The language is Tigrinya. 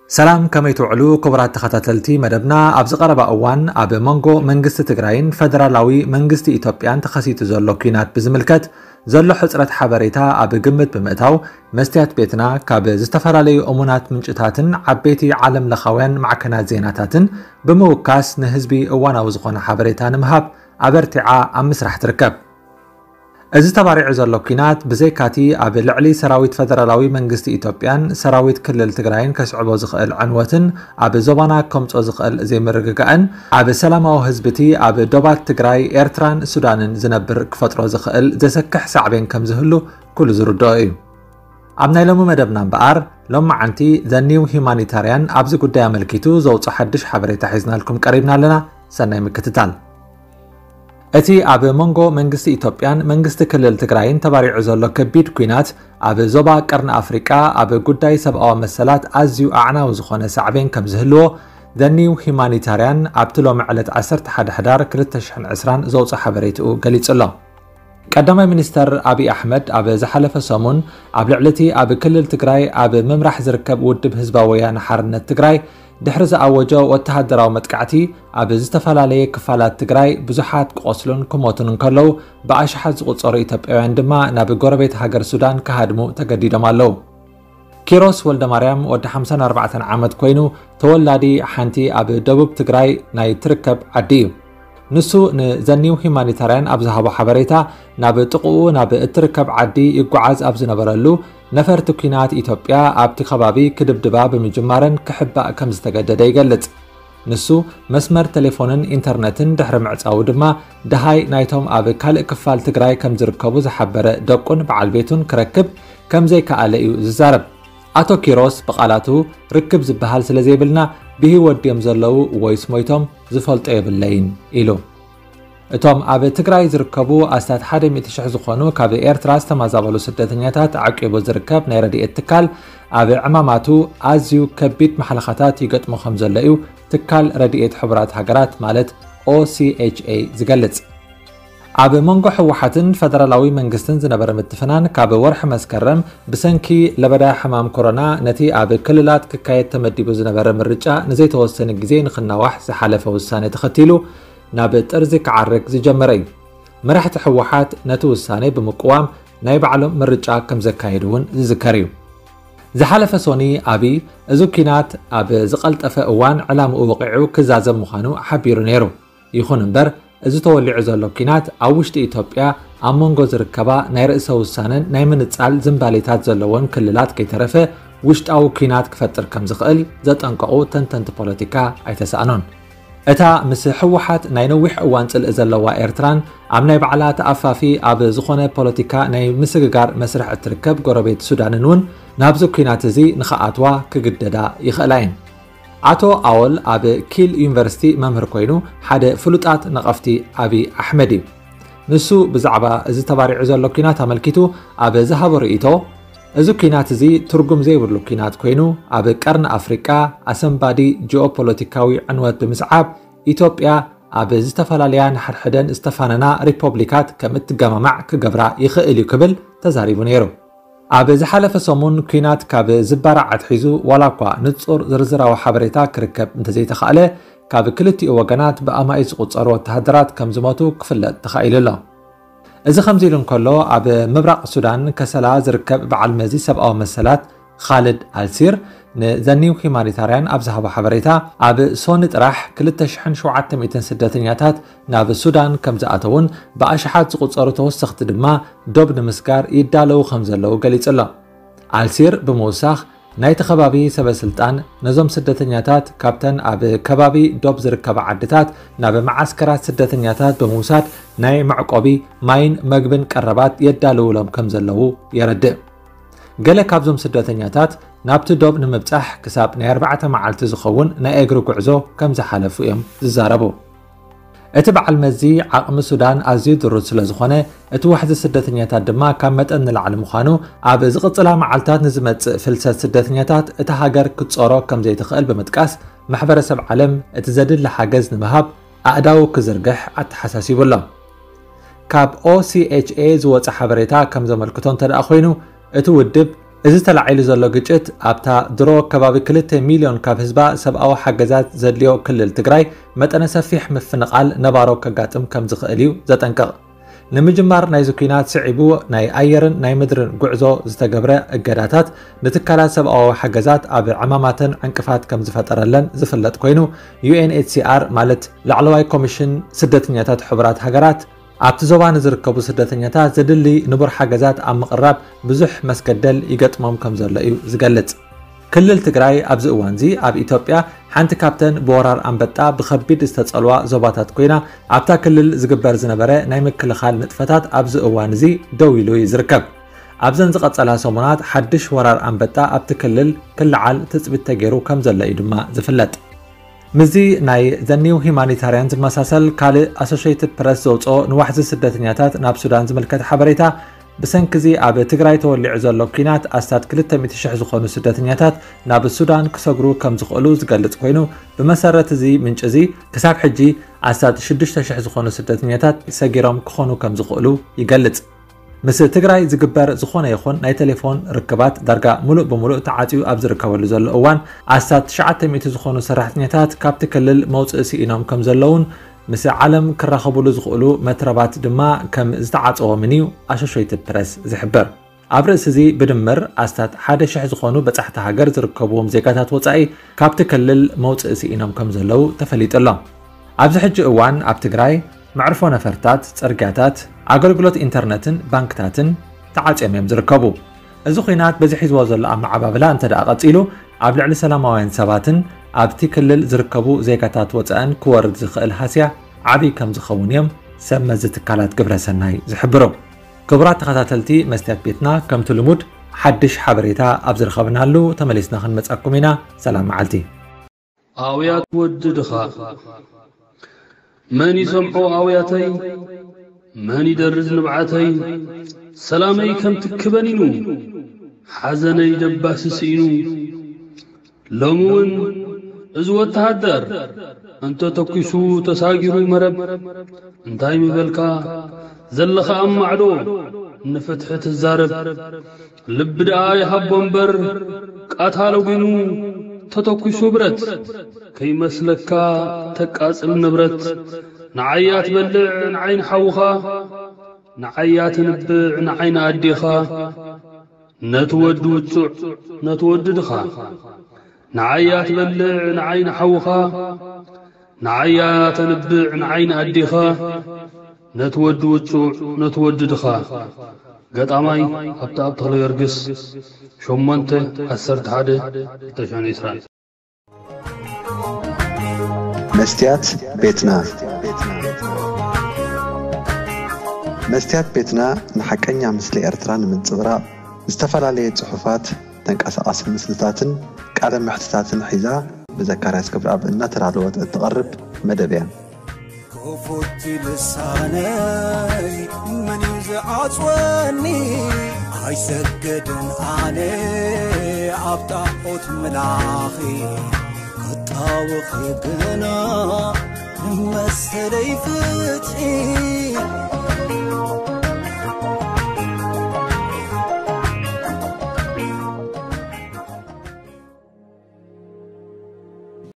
ሰላም፣ ከመይ ትውዕሉ ክቡራት ተኸታተልቲ መደብና? ኣብዚ ቀረባ እዋን ኣብ መንጎ መንግስቲ ትግራይን ፈደራላዊ መንግስቲ ኢትዮጵያን ተኸሲቱ ዘሎ ኲናት ብዝምልከት ዘሎ ሕጽረት ሓበሬታ ኣብ ግምት ብምእታው፣ መስትያት ቤትና ካብ ዝተፈላለዩ እሙናት ምንጭታትን ዓበይቲ ዓለም ለኻውያን ማዕከናት ዜናታትን ብምውካስ ንህዝቢ እዋናዊ ዝኾነ ሓበሬታ ንምሃብ ኣበርቲዓ ኣብ ምስራሕ ትርከብ። እዚ ተባሪዑ ዘሎ ኲናት ብዘይካቲ ኣብ ልዕሊ ሰራዊት ፈደራላዊ መንግስቲ ኢትዮጵያን ሰራዊት ክልል ትግራይን ከስዕቦ ዝኽእል ዕንወትን ኣብ ዞባና ከምጾ ዝኽእል ዘይምርግጋእን ኣብ ሰላማዊ ህዝብቲ ኣብ ዶባት ትግራይ፣ ኤርትራን ሱዳንን ዝነብር ክፈጥሮ ዝኽእል ዘሰክሕ ሳዕቤን ከም ዝህሉ ኩሉ ዝርድኦ እዩ። ኣብ ናይ ሎሚ መደብና እምበኣር፣ ሎማዓንቲ ዘ ኒው ሂማኒታርያን ኣብዚ ጉዳይ ኣመልኪቱ ዘውፅኦ ሓድሽ ሓበሬታ ሒዝናልኩም ቀሪብና ኣለና። ሰናይ ምክትታል። እቲ ኣብ መንጎ መንግስቲ ኢትዮጵያን መንግስቲ ክልል ትግራይን ተባሪዑ ዘሎ ከቢድ ኲናት ኣብ ዞባ ቀርኒ ኣፍሪቃ ኣብ ጉዳይ ሰብኣዊ መሰላት ኣዝዩ ኣዕናዊ ዝኾነ ሳዕቤን ከም ዝህልዎ ዘ ኒው ሂማኒታርያን ኣብቲ ሎሚ ዕለት ዓሰርተ ሓደ ሕዳር ክልተ ሽሕን ዕስራን ዘውፅኦ ሓበሬትኡ ገሊጹ ኣሎ። ቀዳማይ ሚኒስተር ኣብይ ኣሕመድ ኣብ ዝሓለፈ ሰሙን ኣብ ልዕሊ እቲ ኣብ ክልል ትግራይ ኣብ ምምራሕ ዝርከብ ውድብ ህዝባዊ ወያነ ሓርነት ትግራይ ድሕሪ ዝኣወጆ ወተሃደራዊ መጥቃዕቲ ኣብ ዝተፈላለየ ክፋላት ትግራይ ብዙሓት ክቖስሉን ክሞቱን እንከለዉ ብኣሽሓት ዝቑጸሩ ኢትዮጵያውያን ድማ ናብ ጎረቤት ሃገር ሱዳን ክሃድሙ ተገዲዶም ኣለዉ። ኪሮስ ወልደማርያም ወዲ ሓምሳን ኣርባዕተን ዓመት ኮይኑ ተወላዲ ሓንቲ ኣብ ደቡብ ትግራይ ናይ ትርከብ ዓዲ እዩ። ንሱ ንዘ ኒው ሂማኒታርያን ኣብ ዝሃቦ ሓበሬታ ናብ ጥቕኡ ናብ እትርከብ ዓዲ ይጓዓዝ ኣብ ዝነበረሉ ነፈርቲ ኲናት ኢትዮጵያ ኣብቲ ከባቢ ክድብድባ ብምጅማረን ክሕባእ ከም ዝተገደደ ይገልጽ። ንሱ መስመር ቴሌፎንን ኢንተርነትን ድሕሪ ምዕጻዉ ድማ ደሃይ ናይቶም ኣብ ካልእ ክፋል ትግራይ ከም ዝርከቡ ዝሓበረ ደቁን በዓል ቤቱን ክረክብ ከም ዘይከኣለ እዩ ዝዛረብ። ኣቶ ኪሮስ ብቓላቱ ርክብ ዝበሃል ስለ ዘይብልና ብህይወት ድዮም ዘለዉ ወይስ ሞይቶም ዝፈልጦ የብለይን ኢሉ። እቶም ኣብ ትግራይ ዝርከቡ ኣስታት ሓደ ሚእቲ ሽሕ ዝኾኑ ካብ ኤርትራ ዝተመዛበሉ ስደተኛታት ዓቂቡ ዝርከብ ናይ ረድኤት ትካል ኣብ ዕማማቱ ኣዝዩ ከቢድ ማሕለኻታት ይገጥሞ ከም ዘሎ እዩ ትካል ረድኤት ሕቡራት ሃገራት ማለት ኦሲኤችኤ ዝገልጽ። ኣብ መንጎ ህወሓትን ፈደራላዊ መንግስትን ዝነበረ ምትፍናን ካብ ወርሒ መስከረም ብሰንኪ ለበዳ ሕማም ኮሮና ነቲ ኣብ ክልላት ክካየድ ተመዲቡ ዝነበረ ምርጫ ንዘይተወሰነ ግዜ ንክናዋሕ ዝሓለፈ ውሳነ ተኸቲሉ ናብ ጥርዚ ክዓርግ ዝጀመረ እዩ። መራሕቲ ህወሓት ነቲ ውሳነ ብምቅዋም ናይ ባዕሎም ምርጫ ከም ዘካየዱ እውን ዝዝከር እዩ። ዝሓለፈ ሶኒ ኣብይ እዚ ኲናት ኣብ ዝቐልጠፈ እዋን ዕላምኡ ወቒዑ ክዛዘም ምዃኑ ሓቢሩ ነይሩ። ይኹን እምበር፣ እዚ ተወሊዑ ዘሎ ኲናት ኣብ ውሽጢ ኢትዮጵያ ኣብ መንጎ ዝርከባ ናይ ርእሰ ውሳነን ናይ ምንጻል ዝንባሌታት ዘለወን ክልላት ከይተረፈ ውሽጣዊ ኲናት ክፈጥር ከም ዝኽእል ዘጠንቀቑ ተንተንቲ ፖለቲካ ኣይተሳእኑን። እታ ምስ ህወሓት ናይ ነዊሕ እዋን ጽልኢ ዘለዋ ኤርትራን ኣብ ናይ ባዕላ ተኣፋፊ ኣብ ዝኾነ ፖለቲካ ናይ ምስግጋር መስርሕ እትርከብ ጎረቤት ሱዳንን እውን ናብዚ ኲናት እዚ ንኽኣትዋ ክግደዳ ይኽእላ እየን። ኣቶ ኣወል ኣብ ኪል ዩኒቨርሲቲ መምህር ኮይኑ ሓደ ፍሉጣት ነቐፍቲ ኣብይ ኣሕመድ እዩ። ንሱ ብዛዕባ እዚ ተባሪዑ ዘሎ ኲናት ኣመልኪቱ ኣብ ዝሃቦ ርእይቶ፣ እዚ ኲናት እዚ ትርጉም ዘይብሉ ኲናት ኮይኑ ኣብ ቀርኒ ኣፍሪቃ ኣሰንባዲ ጂኦፖለቲካዊ ዕንወት ብምስዓብ ኢትዮጵያ ኣብ ዝተፈላለያ ንሓድሕደን ዝተፋነና ሪፖብሊካት ከም እትገማማዕ ክገብራ ይኽእል እዩ ክብል ተዛሪቡ ነይሩ። ኣብ ዝሓለፈ ሰሙን ኲናት ካብ ዝባራዕ ኣትሒዙ ዋላ እኳ ንጹር ዝርዝራዊ ሓበሬታ ክርከብ እንተዘይተኻእለ ካብ ክልቲኡ ወገናት ብኣማኢት ዝቑጸሩ ወተሃደራት ከም ዝሞቱ ክፍለጥ ተኻኢሉ ኣሎ። እዚ ከምዚ ኢሉ እንከሎ ኣብ ምብራቕ ሱዳን ከሰላ ዝርከብ በዓል መዚ ሰብኣዊ መሰላት ኻልድ ኣልሲር ንዘ ኒው ሂማኒታርያን ኣብ ዝሃቦ ሓበሬታ ኣብ ሶኒ ጥራሕ ክልተ ሽሕን ሸውዓተ ሚእትን ስደተኛታት ናብ ሱዳን ከም ዝኣተውን ብኣሽሓት ዝቑጸሩ ተወሰኽቲ ድማ ዶብ ንምስጋር ይዳለዉ ከም ዘለዉ ገሊጹ ኣሎ። ኣልሲር ብምውሳኽ ናይቲ ከባቢ ሰበ ስልጣን ነዞም ስደተኛታት ካብተን ኣብ ከባቢ ዶብ ዝርከባ ዓድታት ናብ መዓስከራት ስደተኛታት ብምውሳድ ናይ መዕቆቢ ማይን መግብን ቀረባት የዳልውሎም ከም ዘለዉ የረድእ። ገለ ካብዞም ስደተኛታት ናብቲ ዶብ ንምብጻሕ ክሳብ ናይ ኣርባዕተ መዓልቲ ዝኸውን ናይ እግሪ ጉዕዞ ከም ዝሓለፉ እዮም ዝዛረቡ። እቲ በዓል መዚ ዓቕሚ ሱዳን ኣዝዩ ድሩት ስለ ዝኾነ እቲ ዋሕዚ ስደተኛታት ድማ ካብ መጠን ንላዕሊ ምዃኑ ኣብ ዝቕጽላ መዓልታት ንዝመጽእ ፍልሰት ስደተኛታት እታ ሃገር ክትጾሮ ከም ዘይትኽእል ብምጥቃስ ማሕበረሰብ ዓለም እቲ ዘድሊ ሓገዝ ንምሃብ ኣእዳው ክዝርግሕ ኣተሓሳሲቡ ኣሎ። ካብ ኦሲኤችኤ ዝወጸ ሓበሬታ ከም ዘመልክቶ እንተ ደኣ ኮይኑ እቲ ውድብ እዚ ተላዒሉ ዘሎ ግጭት ኣብታ ድሮ ከባቢ ክልተ ሚልዮን ካብ ህዝባ ሰብኣዊ ሓገዛት ዘድልዮ ክልል ትግራይ መጠነ ሰፊሕ ምፍንቓል ነባሮ ከጋጥም ከም ዝኽእል እዩ ዘጠንቅቕ። ንምጅማር ናይዚ ኲናት ስዒቡ ናይ ኣየርን ናይ ምድርን ጉዕዞ ዝተገብረ እገዳታት ንትካላት ሰብኣዊ ሓገዛት ኣብ ዕማማተን ዕንቅፋት ከም ዝፈጠረለን ዝፍለጥ ኮይኑ፣ ዩ ኤን ኤች ሲ ኣር ማለት ላዕለዋይ ኮሚሽን ስደተኛታት ሕቡራት ሃገራት ኣብቲ ዞባ ንዝርከቡ ስደተኛታት ዘድሊ ንቡር ሓገዛት ኣብ ምቕራብ ብዙሕ መስገደል ይገጥሞም ከም ዘሎ እዩ ዝገልጽ። ክልል ትግራይ ኣብዚ እዋንዚ ኣብ ኢትዮጵያ ሓንቲ ካብተን ብወራር ኣንበጣ ብኸቢድ ዝተጸልዋ ዞባታት ኮይና፣ ኣብታ ክልል ዝግበር ዝነበረ ናይ ምክልኻል ንጥፈታት ኣብዚ እዋን እዚ ደው ኢሉ እዩ ዝርከብ። ኣብዘን ዝቐጸላ ሰሙናት ሓድሽ ወራር ኣንበጣ ኣብቲ ክልል ክለዓል ትጽቢት ተገይሩ ከም ዘሎ እዩ ድማ ዝፍለጥ። ምስዚ ናይ ዘ ኒው ሂማኒታርያን ዝመሳሰል ካልእ ኣሶሽየትድ ፕረስ ዘውፅኦ ንዋሕዚ ስደተኛታት ናብ ሱዳን ዝምልከት ሓበሬታ፣ ብሰንኪዚ ኣብ ትግራይ ተወሊዑ ዘሎ ኲናት ኣስታት ክልተ ሚእቲ ሽሕ ዝኾኑ ስደተኛታት ናብ ሱዳን ክሰግሩ ከም ዝኽእሉ ዝገልጽ ኮይኑ፣ ብመሰረት እዚ ምንጪ እዚ ክሳብ ሕጂ ኣስታት ሽዱሽተ ሽሕ ዝኾኑ ስደተኛታት ሰጊሮም ክኾኑ ከም ዝኽእሉ ይገልጽ። ምስ ትግራይ ዝግበር ዝኾነ ይኹን ናይ ቴሌፎን ርክባት ዳርጋ ሙሉእ ብሙሉእ ተዓፅዩ ኣብ ዝርከበሉ ዘሎ እዋን፣ ኣስታት ትሽዓተ ሚእቲ ዝኾኑ ሰራሕተኛታት ካብቲ ክልል መውፅኢ ስኢኖም ከም ዘለውን ምስ ዓለም ክራኸቡሉ ዝኽእሉ መትረባት ድማ ከም ዝተዓፀዎምን እዩ ኣሶሽየትድ ፕረስ ዝሕብር። ኣብ ርእሲ እዚ ብድምር ኣስታት ሓደ ሽሕ ዝኾኑ በጻሕቲ ሃገር ዝርከብዎም ዜጋታት ወጻኢ ካብቲ ክልል መውጽኢ ስኢኖም ከም ዘለዉ ተፈሊጡ ኣሎ። ኣብዚ ሕጂ እዋን ኣብ ትግራይ መዕርፎ ነፈርታት፣ ጽርግያታት፣ ኣገልግሎት ኢንተርነትን ባንክታትን ተዓጽዮም እዮም ዝርከቡ። እዚ ኲናት በዚ ሒዝዎ ዘሎ ኣመዓባብላ እንተ ደኣ ቀጺሉ፣ ኣብ ልዕሊ ሰላማውያን ሰባትን ኣብቲ ክልል ዝርከቡ ዜጋታት ወጻእን ክወርድ ዝኽእል ሃስያ ዓብዪ ከም ዝኸውን እዮም ሰብ መዚ ትካላት ግብረ ሰናይ ዝሕብሩ። ክቡራት ተኸታተልቲ መስትያት ቤትና፣ ከምቲ ልሙድ ሓድሽ ሓበሬታ ኣብ ዝረኸብናሉ ተመሊስና ክንመጻኩም ኢና። ሰላም መዓልቲ። ኣውያት ወዲ ድኻ። መን ይሰምዖ ኣውያተይ? መን ይደርዝ ንብዓተይ? ሰላመይ ከም ትኪ በኒኑ፣ ሓዘነይ ደባሲ ስኢኑ። ሎሚ እውን እዚ ወተሃደር እንተ ተኲሱ ተሳጊሩ መረብ፣ እንታይ ምበልካ ዘለኻ ኣብ ማዕዶ ንፍትሒ ትዛረብ። ልቢ ደኣ ይሃቦ እምበር ቃታ ለጒኑ ተተኲሱ ብረት፣ ከይመስለካ ተቃጽል ንብረት። ንዓይ ኣትበልዕ ንዓይ ንሓውኻ፣ ንዓይ ኣትንብዕ ንዓይ ንኣዴኻ። ነቲ ወዲ ውጹዕ ነቲ ወዲ ድኻ፣ ንዓይ ኣትበልዕ ንዓይ ንሓውኻ፣ ንዓይ ኣተንብዕ ንዓይ ንኣዴኻ። ነቲ ወዲ ውጹዕ ነቲ ወዲ ድኻ። ገጣማይ ሃብተኣብ ተኽለጊዮርጊስ፣ ሸሞንተ ዓሰርተ ሓደ ክልተ ሽሕን ዕስራን። መስትያት ቤትና። መስትያት ቤትና ንሓቀኛ ምስሊ ኤርትራ ንምንጽብራቕ ዝተፈላለየ ጽሑፋት፣ ተንቀሳቓሲ ምስልታትን ቃለ መሕትታትን ሒዛ ብዘካርያስ ክብረኣብ እናተዳለወት እትቐርብ መደብ እያ። ክፉት ልሳነይ መን እዩ ዝዓጽወኒ? ኣይሰግድን ኣነ ኣብ ጣዖት ምላኺ፣ ክጣወኺ ግና መሰለይ ፍትሒ።